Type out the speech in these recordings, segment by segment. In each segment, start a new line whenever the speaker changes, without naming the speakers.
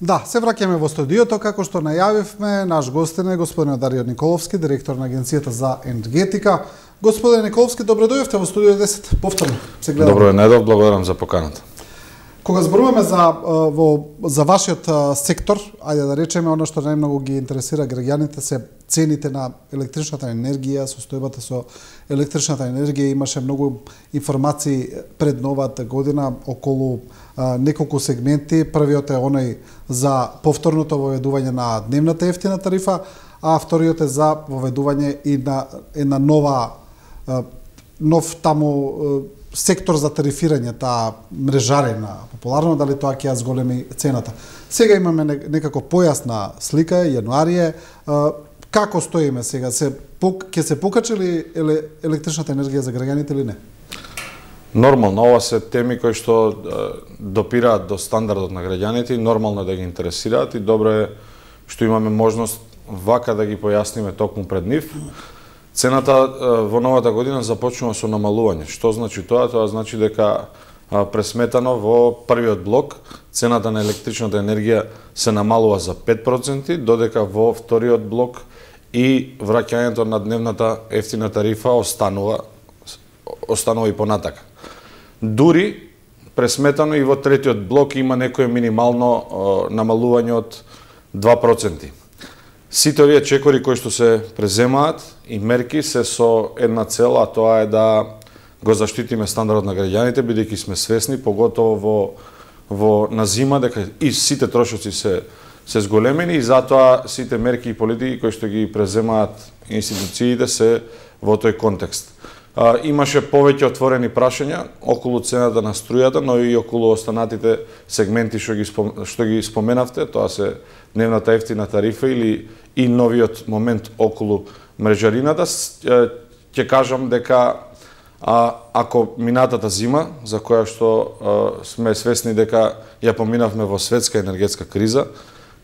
Да, се враќаме во студиото, како што најавивме, наш гостин е господин Дарио Николовски, директор на Агенцијата за енергетика. Господин Николовски, добро дојдовте во студио 10. Повторно се гледаме.
Добро најдов, благодарам за поканата.
Кога зборуваме за вашиот сектор, ајде да речеме, оно што најмногу ги интересира граѓаните се цените на електричната енергија, состојбата со електричната енергија. Имаше многу информации пред новата година околу неколку сегменти. Првиот е оној за повторното воведување на дневната ефтина тарифа, а вториот е за воведување и на една нов таму сектор за тарифирање, таа мрежарена, популарно, дали тоа ќе ја зголеми цената. Сега имаме некако појасна слика, јануарие. Како стоиме сега? Ќе се покачи ли електричната енергија за граѓаните или не?
Нормално, ова се теми кои што допираат до стандардот на граѓаните и нормално да ги интересираат и добро е што имаме можност вака да ги појасниме токму пред нив. Цената во новата година започнува со намалување. Што значи тоа? Тоа значи дека пресметано во првиот блок цената на електричната енергија се намалува за 5%, додека во вториот блок и враќањето на дневната ефтина тарифа останува и понатака. Дури пресметано и во третиот блок има некое минимално намалување од 2%. Сите овие чекори кои што се преземаат и мерки се со една цел, а тоа е да го заштитиме стандардот на граѓаните, бидејќи сме свесни, поготово на зима, дека и сите трошоци се зголемени и затоа сите мерки и политики кои што ги преземаат институциите се во тој контекст. Имаше повеќе отворени прашања околу цената на струјата, но и околу останатите сегменти што ги споменавте, тоа се дневната ефтина тарифа или и новиот момент околу мрежарината. Ќе кажам дека ако минатата зима, за која што сме свесни дека ја поминавме во светска енергетска криза,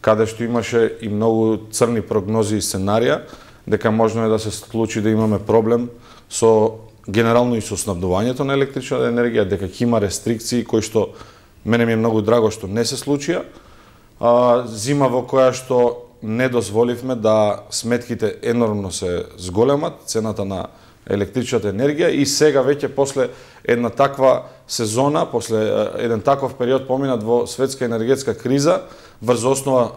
каде што имаше и многу црни прогнози и сценарија, дека можно е да се случи да имаме проблем со генерално и со снабдувањето на електрична енергија, дека ќе има рестрикции кои што мене ми е многу драго што не се случија. Зима во која што не дозволивме да сметките енормно се зголемат, цената на електричната енергија и сега веќе после една таква сезона, после еден таков период поминат во светска енергетска криза, врз основа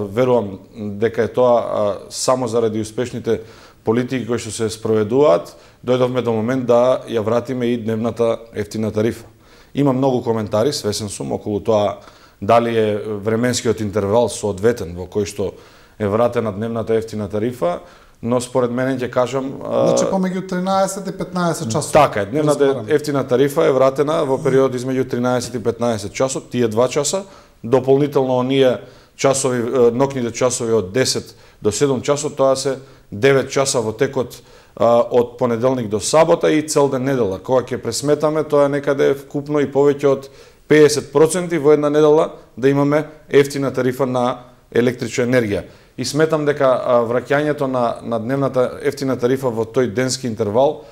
верувам дека е тоа само заради успешните политики кои што се спроведуваат, дојдовме до момент да ја вратиме и дневната ефтина тарифа. Има многу коментари, свесен сум, околу тоа дали е временскиот интервал соодветен во кој што е вратена дневната ефтина тарифа, но според мене ќе кажам...
Значи помеѓу 13 и 15 часот.
Така е, дневната ефтина тарифа е вратена во период измеѓу 13 и 15 часот, тие 2 часа, дополнително оние часови, ноќните часови од 10 до 7 часот, тоа се 9 часа во текот од понеделник до сабота и цел ден недела. Кога ќе пресметаме, тоа е некаде вкупно и повеќе од 50% во една недела да имаме ефтина тарифа на електрична енергија. И сметам дека враќањето на дневната ефтина тарифа во тој денски интервал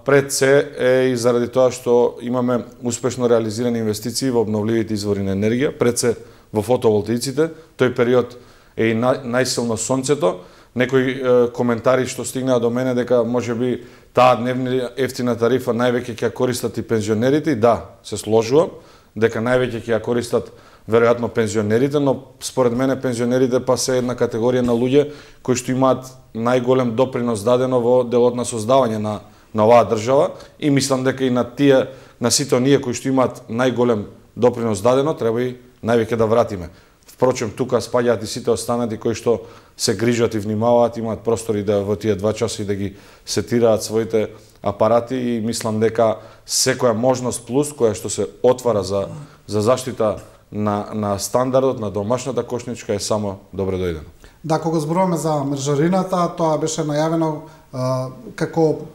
пред се е и заради тоа што имаме успешно реализирани инвестиции во обновливите извори на енергија, пред се во фотоволтаиците, тој период е и најсилно сонцето. Некои коментари што стигнаа до мене дека можеби таа дневна ефтина тарифа највеќе ќе ја користат и пензионерите, и да, се сложувам дека највеќе ќе ја користат веројатно пензионерите, но според мене пензионерите па се една категорија на луѓе кои што имаат најголем допринос дадено во делот на создавање на оваа држава и мислам дека и на сите оние кои што имаат најголем допринос дадено треба и највеќе да вратиме. Впрочем, тука спаѓаат и сите останати кои што се грижат и внимаваат, имаат простори да во тие 2 часа и да ги сетираат своите апарати и мислам дека секоја можност плюс која што се отвара за заштита на стандардот на домашната кошничка е само добре дојдено.
Да, кога зборуваме за мрежарината, тоа беше најавено како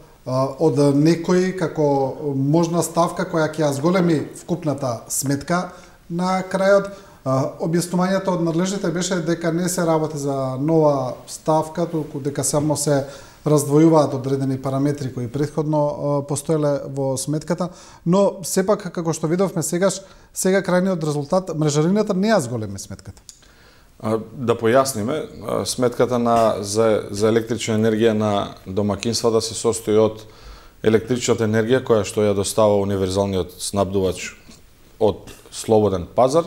од некој како можна ставка која ќе ја зголеми вкупната сметка на крајот. Објаснувањето од надлежните беше дека не се работи за нова ставка, туку дека само се раздвојуваат одредени параметри кои претходно постоеле во сметката, но сепак како што видовме сега крајниот резултат мрежарината не ја зголеми сметката.
Да појасниме, сметката за електрична енергија на домакинствата се состои од електричната енергија која што ја достава универзалниот снабдувач од слободен пазар.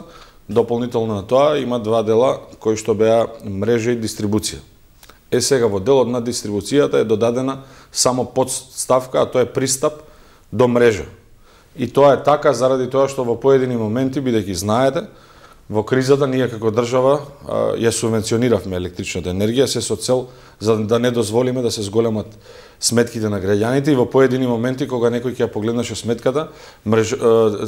Дополнително на тоа има два дела кои што беа мрежа и дистрибуција. Сега во делот на дистрибуцијата е додадена само подставка, а тоа е пристап до мрежа. И тоа е така заради тоа што во поедини моменти, бидејќи знаете, во кризата ние како држава ја субвенциониравме електричната енергија се со цел за да не дозволиме да се зголемат сметките на граѓаните и во поедини моменти кога некој ќе ја погледнеше сметката,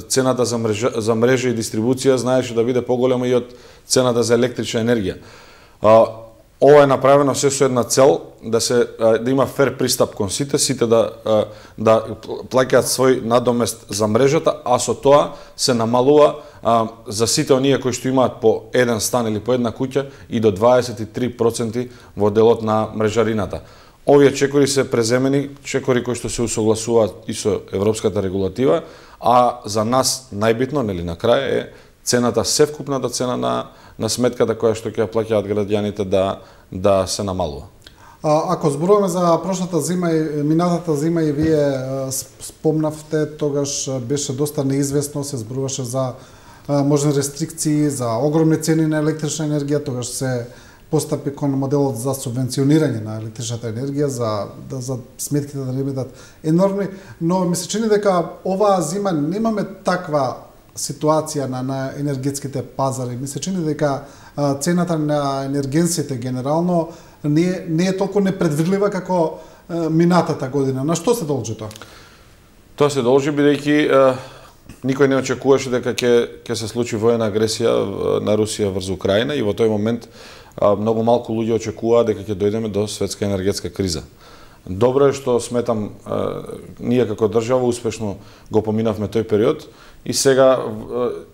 цената за мрежа и дистрибуција знаеше да биде поголема и од цената за електрична енергија. Ова е направено се со една цел да има фер пристап кон сите да плаќаат свој надомест за мрежата, а со тоа се намалува за сите оние кои што имаат по еден стан или по една куќа и до 23% во делот на мрежарината. Овие чекори се преземени, чекори кои што се усогласуваат и со европската регулатива, а за нас најбитно, нели на крај е цената, севкупната цена на сметката која што ќе ја плаќаат граѓаните да се намалува.
Ако зборуваме за прошлата зима и минатата зима и вие спомнавте, тогаш беше доста неизвестно, се зборуваше за можни рестрикции, за огромни цени на електрична енергија, тогаш се постапи кон моделот за субвенционирање на електричната енергија, за сметките да не бидат енормни, но ми се чини дека оваа зима немаме таква ситуација на енергетските пазари. Ми се чини дека цената на енергенсите генерално не е толку непредвидлива како минатата година. На што се должи тоа?
Тоа се должи бидејќи никој не очекуваше дека ќе се случи воена агресија на Русија врз Украина и во тој момент многу малку луѓе очекуваа дека ќе дојдеме до светска енергетска криза. Добро е што сметам ние како држава успешно го поминавме тој период и сега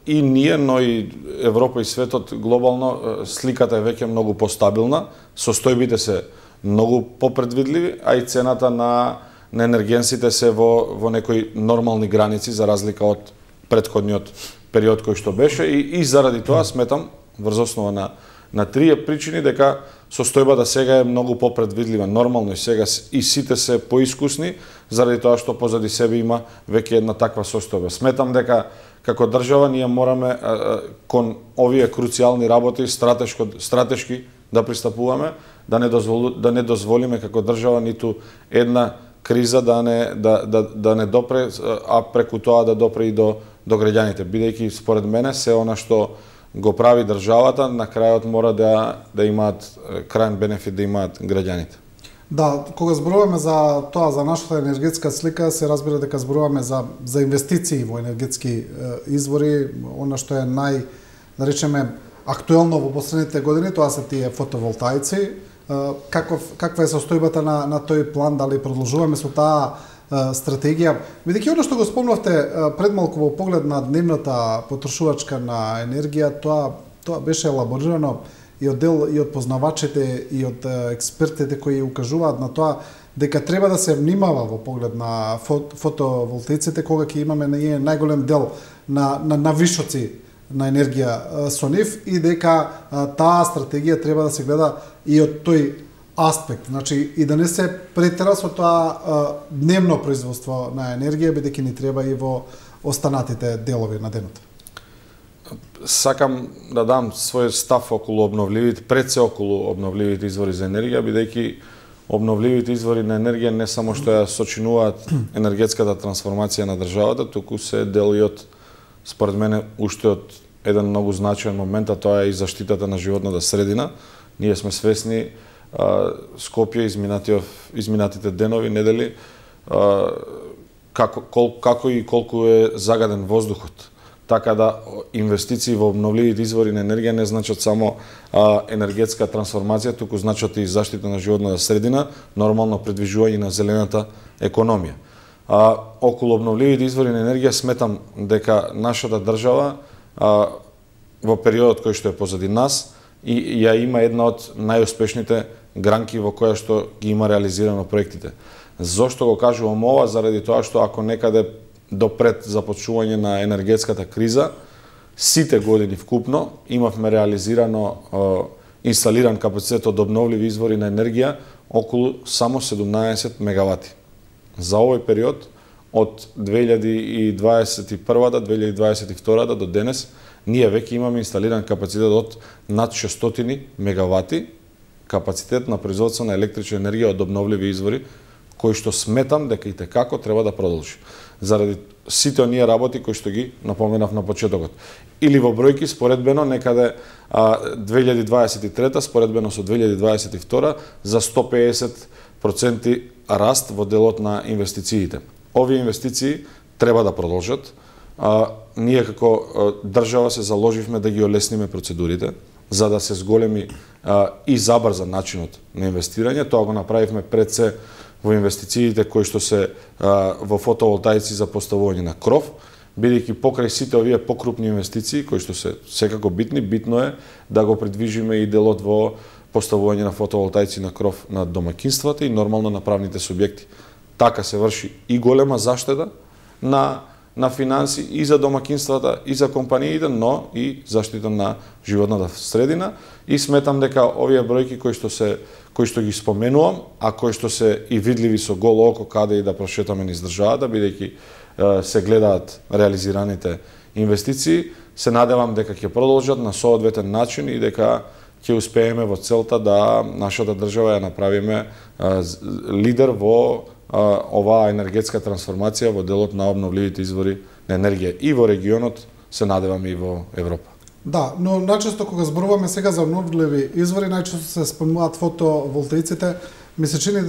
и ние, но и Европа и светот глобално сликата е веќе многу постабилна, состојбите се многу попредвидливи, а и цената на енергенсите се во некои нормални граници за разлика од претходниот период кој што беше и заради тоа сметам врз основа на трие причини дека состојбата сега е многу попредвидлива. Нормално и сега и сите се поискусни заради тоа што позади себе има веќе една таква состојба. Сметам дека како држава ние мораме кон овие круцијални работи стратешки да пристапуваме, да не дозволиме како држава ниту една криза да не допре, а преку тоа да допре и до граѓаните. Бидејќи според мене се она што го прави државата, на крајот мора да имаат крајен бенефит да имаат граѓаните.
Да, кога зборуваме за тоа, за нашата енергетска слика, се разбира дека зборуваме за инвестиции во енергетски извори, она што е да речеме, актуелно во последните години, тоа се тие фотоволтаици. Каква е состојбата на тој план, дали продолжуваме со таа стратегија? Бидејќи она што го спомнавте пред малку во поглед на дневната потрошувачка на енергија, тоа беше елаборирано и од познавачите и од експертите кои укажуваат на тоа дека треба да се внимава во поглед на фотоволтаиците кога ќе имаме најголем дел на вишоци на енергија со нив и дека таа стратегија треба да се гледа и од тој аспект, значи и да не се претера со тоа дневно производство на енергија, бидејќи ни треба и во останатите делови на денот.
Сакам да дам свој став околу обновливите, пред се околу обновливите извори за енергија, бидејќи обновливите извори на енергија не само што ја сочинуваат енергетската трансформација на државата, туку се дел и од, според мене, уште од еден многу значаен момент, а тоа е и заштитата на животната средина. Ние сме свесни Скопје изминатите денови, недели, како и колку е загаден воздухот. Така да инвестиции во обновливите извори на енергија не значат само енергетска трансформација, туку значат и заштита на животната средина, нормално придвижување на зелената економија. Околу обновливите извори на енергија сметам дека нашата држава во периодот кој што е позади нас и ја има една од најуспешните гранки во која што ги има реализирано проектите. Зошто го кажувам ова? Заради тоа што ако некаде до пред започнување на енергетската криза, сите години вкупно имавме реализирано инсталиран капацитет од обновливи извори на енергија околу само 17 мегавати. За овој период од 2021 до 2022 до денес ние веќе имаме инсталиран капацитет од над 600 мегавати капацитет на производство на електрична енергија од обновливи извори, кој што сметам дека и текако треба да продолжи. Заради сите оние работи кои што ги напоменав на почетокот. Или во бројки споредбено некаде 2023 споредбено со 2022 за 150% раст во делот на инвестициите. Овие инвестиции треба да продолжат. Ние како држава се заложивме да ги олесниме процедурите за да се зголеми и забрза начинот на инвестирање. Тоа го направивме пред се во инвестициите кои што се во фотоволтаици за поставување на кров, бидејќи покрај сите овие покрупни инвестиции кои што се секако битни, битно е да го придвижиме и делот во поставување на фотоволтаици на кров на домаќинствата и нормално на правните субјекти. Така се врши и голема заштеда на финанси и за домаќинствата и за компаниите, но и заштита на животната средина. И сметам дека овие бројки кои што ги споменувам, а кои што се и видливи со голо око каде и да прошетаме низ државата, бидејќи се гледаат реализираните инвестиции, се надевам дека ќе продолжат на соодветен начин и дека ќе успееме во целта да нашата држава ја направиме лидер во оваа енергетска трансформација во делот на обновливите извори на енергија и во регионот, се надевам и во Европа.
Да, но најчесто кога зборуваме сега за обновливи извори, најчесто се спомнуваат фотоволтаиците. Ми се чини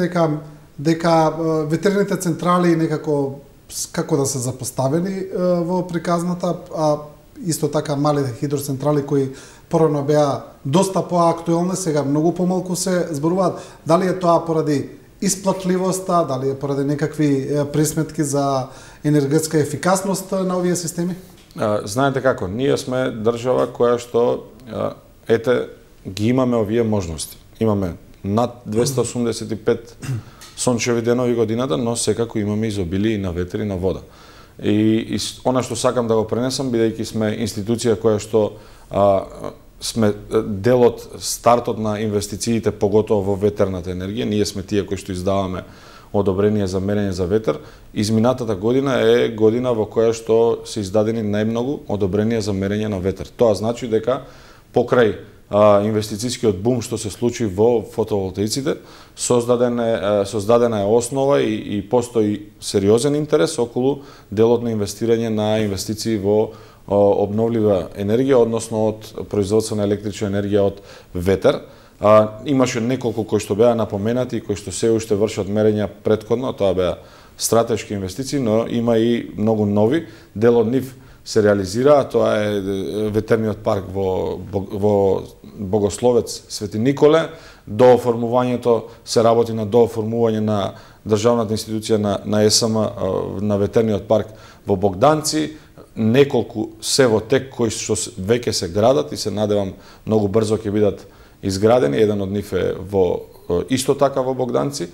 дека ветерните централи некако како да се запоставени во приказната, а исто така малите хидроцентрали кои порано беа доста поактуелни, сега многу помалку се зборуваат. Дали е тоа поради исплатливоста, дали е поради некакви присметки за енергетска ефикасност на овие системи?
Знаете како, ние сме држава која што ги имаме овие можности. Имаме над 285 сончеви денови годината, но секако имаме изобилие и на ветер и на вода. И она што сакам да го пренесам, бидејќи сме институција која што сме делот, стартот на инвестициите, поготово во ветерната енергија, ние сме тие кои што издаваме одобрение за мерење за ветер. Изминатата година е година во која што се издадени најмногу одобрение за мерење на ветер. Тоа значи дека покрај инвестицијскиот бум што се случи во фотоволтаиците, создадена е основа и постои сериозен интерес околу делот на инвестирање на инвестиции во обновлива енергија, односно од производство на електрична енергија од ветер. Имаше неколку кои што беа напоменати, кои што се уште вршат мерења претходно, тоа беа стратешки инвестиции, но има и многу нови. Дел од нив се реализира, тоа е ветерниот парк во Богословец Свети Николе. До оформувањето се работи на дооформување на државната институција на ЕСМ на ветерниот парк во Богданци. Неколку се во тек кои што веќе се градат и се надевам многу брзо ќе бидат изградени. Еден од нив е исто така во Богданци.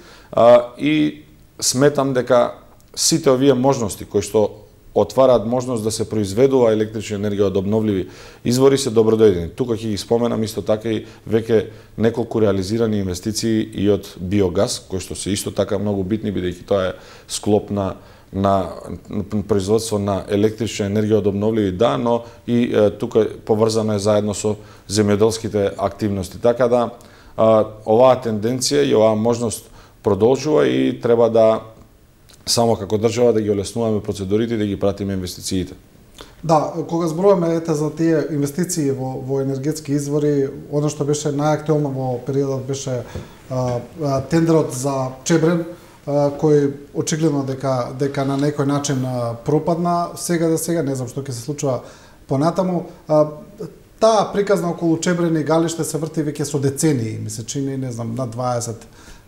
И сметам дека сите овие можности кои што отвараат можност да се произведува електрична енергија од обновливи извори се добродојдени. Тука ќе ги споменам исто така и веќе неколку реализирани инвестиции и од биогаз, кои што се исто така многу битни, бидејќи тоа е склоп на производство на електрична енергија од обновливи, да, но и тука поврзано е заедно со земјоделските активности. Така да оваа тенденција и оваа можност продолжува и треба да само како држава да ги олеснуваме процедурите и да ги пратиме инвестициите.
Да, кога зборуваме за тие инвестиции во енергетски извори, она што беше најактуелно во периодот беше тендерот за Чебрен, кој очигледно дека на некој начин пропадна сега, не знам што ќе се случува понатаму. Таа приказна околу Чебрен и Галиште се врти веќе со децении, ми се чини, не знам, на 20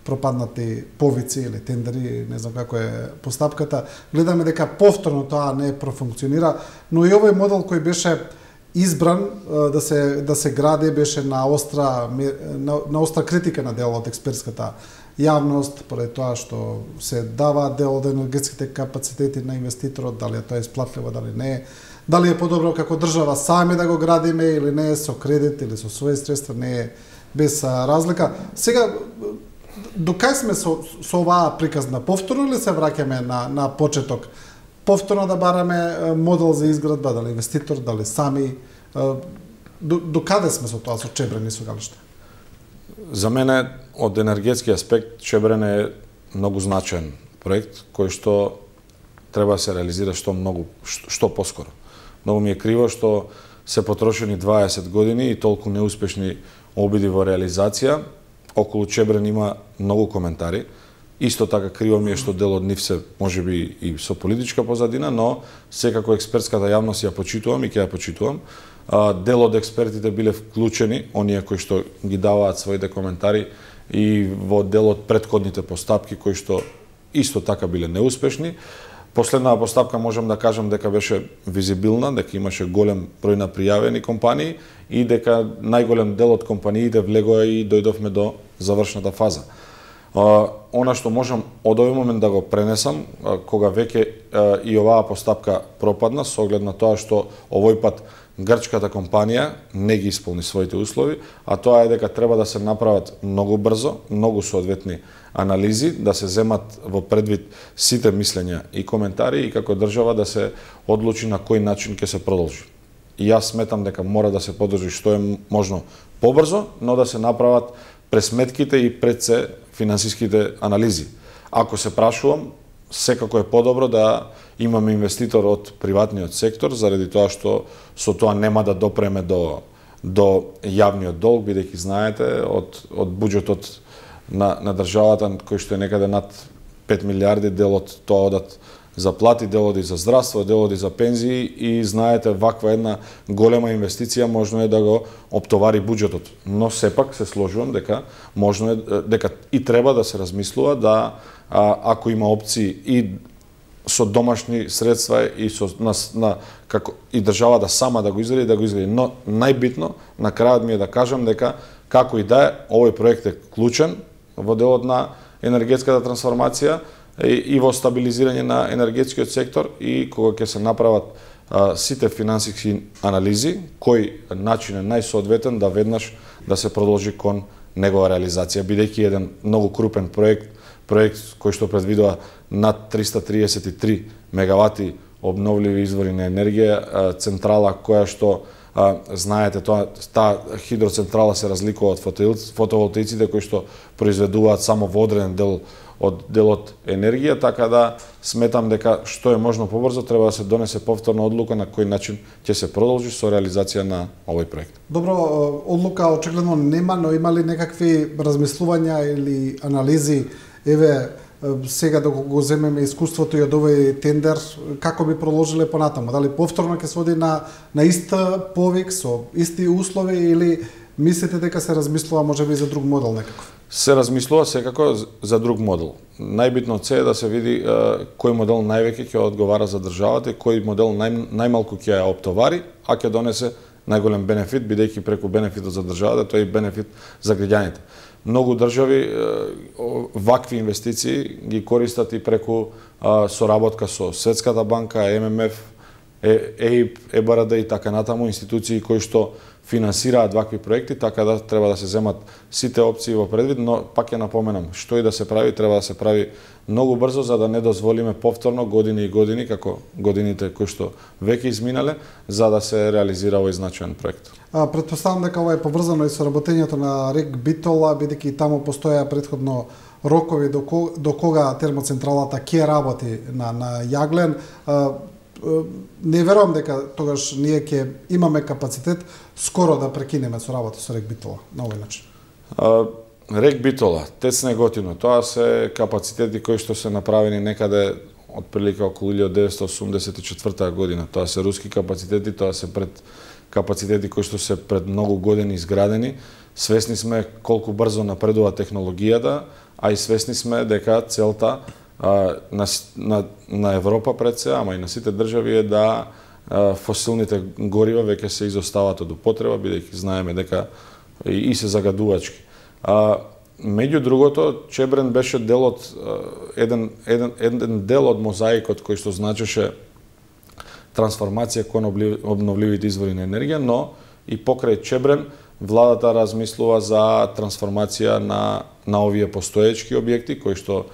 пропаднати повици или тендери, не знам како е постапката. Гледаме дека повторно тоа не профункционира, но и овој модел кој беше избран да се гради беше на остра критика на дел од експертската јавност, поради тоа што се дава дел од енергетските капацитети на инвеститорот, дали тоа е исплатливо, дали не е, дали е подобро како држава сами да го градиме или не е со кредит или со своји средства, не е без разлика. Сега, до кај сме со оваа приказна? Повторно ли се враќаме на почеток? Повторно да бараме модел за изградба, дали инвеститор, дали сами? До каде сме со тоа, со Чебрен и со Галиште?
За мене, од енергетски аспект, Чебрен е многу значаен проект, кој што треба да се реализира што поскоро. Многу ми е криво што се потрошени 20 години и толку неуспешни обиди во реализација. Околу Чебрен има многу коментари. Исто така криво ми е што дел од нив се можеби и со политичка позадина, но секако експертската јавност ја почитувам и ќе ја почитувам. Дел од експертите биле вклучени, оние кои што ги даваат своите коментари и во дел од претходните постапки кои што исто така биле неуспешни. Последната постапка можам да кажам дека беше визибилна, дека имаше голем број на пријавени компании и дека најголем дел од компаниите влегоа и дојдовме до завршната фаза. Она што можам од овој момент да го пренесам, кога веќе и оваа постапка пропадна, со оглед на тоа што овој пат грчката компанија не ги исполни своите услови, а тоа е дека треба да се направат многу брзо, многу соодветни анализи, да се земат во предвид сите мислења и коментари и како држава да се одлучи на кој начин ќе се продолжи. И јас сметам дека мора да се подржи што е можно побрзо, но да се направат пресметките и пред се финансиските анализи. Ако се прашувам, секако е подобро да имаме инвеститор од приватниот сектор, заради тоа што со тоа нема да допреме до јавниот долг, бидејќи знаете, од буџетот на државата, кој што е некаде над 5 милиарди, дел од тоа одат за плати, дел оди за здравство, дел оди за пензии и знаете, ваква една голема инвестиција можно е да го оптовари буџетот. Но сепак се сложувам дека можно е дека и треба да се размислува да ако има опции и со домашни средства и со како и државата сама да го изгради, но најбитно на крајот ми е да кажам дека како и да е, овој проект е клучен во делот на енергетската трансформација и во стабилизирање на енергетскиот сектор и кога ќе се направат сите финансиски анализи, кој начин е најсоодветен да веднаш да се продолжи кон негова реализација, бидејќи еден многу крупен проект кој што предвидува над 333 мегавати обновливи извори на енергија, централа која што знаете, таа хидроцентрала се разликува од фотоволтаиците кои што произведуваат само во одреден дел од енергија, така да сметам дека што е можно побрзо треба да се донесе повторна одлука на кој начин ќе се продолжи со реализација на овој проект.
Добро, одлука очигледно нема, но има ли некакви размислувања или анализи, еве сега да го земеме искуството и од овој тендер, како би продолжиле понатаму? Дали повторно ќе се оди на ист повик со исти услови или мислите дека се размислува можеби за друг модел некаков?
Се размислува секако за друг модел. Најбитно е да се види кој модел највеќе ќе одговара за државата и кој модел најмалку ќе ја оптовари, а ќе донесе најголем бенефит, бидејќи преку бенефитот за државата тој е бенефит за граѓаните. Многу држави вакви инвестиции ги користат и преку соработка со Светската банка, ММФ, ЕИП, ЕБРД и така натаму, институции кои што финансираат вакви проекти, така да треба да се земат сите опции во предвид, но пак ќе напоменам, што и да се прави, треба да се прави многу брзо за да не дозволиме повторно години и години, како годините кои што веќе изминале, за да се реализира овој значаен проект.
Претпоставам дека ова е поврзано и со работењето на РЕК Битола, бидејќи таму постоја претходно рокови до кога термоцентралата ќе работи на јаглен. Не верувам дека тогаш ние ќе имаме капацитет скоро да прекинеме со работа со РЕК Битола на овој начин.
РЕК Битола, ТЕЦ Неготино, тоа се капацитети кои што се направени некаде од прилика околу 1984 година. Тоа се руски капацитети, тоа се капацитети кои што се пред многу години изградени. Свесни сме колку брзо напредува технологијата, а и свесни сме дека целта на Европа пред се, ама и на сите држави е да фосилните горива веќе се изостават од употреба, бидејќи знаеме дека и се загадувачки. Меѓу другото, Чебрен беше дел од еден дел од мозаикот кој што значеше трансформација кон обновливите извори на енергија, но и покрај Чебрен владата размислува за трансформација на овие постоечки објекти кои што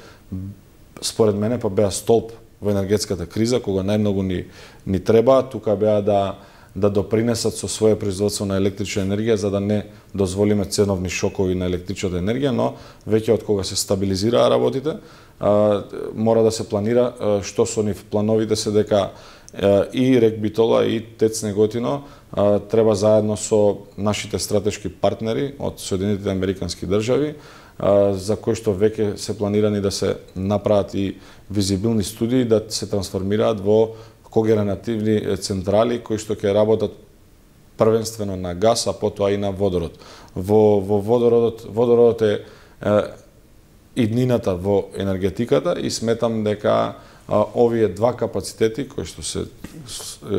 според мене па беа столб во енергетската криза, кога најмногу ни треба, тука беа да допринесат со своје производство на електрична енергија, за да не дозволиме ценовни шокови на електричната енергија, но веќе од кога се стабилизираа работите, мора да се планира што со нив плановите се дека и РЕК Битола и ТЕЦ Неготино треба заедно со нашите стратешки партнери од Соединетите Американски држави, за кои што веќе се планирани да се направат и визибилни студии, да се трансформираат во когенеративни централи кои што ќе работат првенствено на газ, а потоа и на водород. Во водородот е иднината во енергетиката и сметам дека овие два капацитети кои што се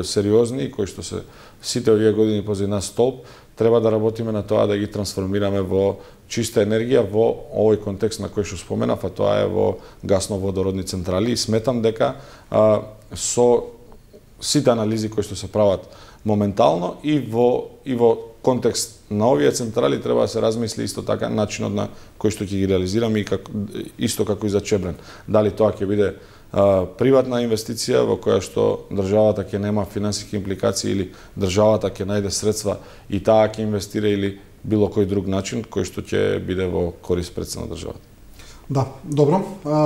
сериозни и кои што се сите овие години позади нас столб, треба да работиме на тоа да ги трансформираме во чиста енергија во овој контекст на кој што споменав, а тоа е во гасно-водородни централи и сметам дека со сите анализи кои што се прават моментално и во контекст на овие централи треба да се размисли исто така начинот на кој што ќе ги реализираме и исто како и за Чебрен. Дали тоа ќе биде приватна инвестиција во која што државата ќе нема финансиски импликации или државата ќе најде средства и таа ќе инвестира или било кој друг начин кој што ќе биде во корист пред на државата.
Да, добро.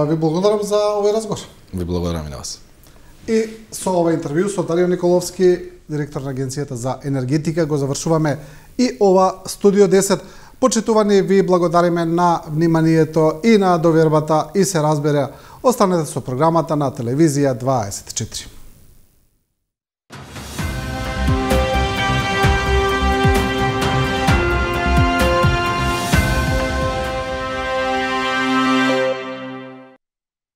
Ви благодарам за овој разговор.
Ви благодарам и на вас.
И со ова интервју со Дарио Николовски, директор на Агенцијата за енергетика, го завршуваме и ова Студио 10. Почитувани, ви благодариме на вниманието и на довербата и се разбере. Останете со програмата на Телевизија 24.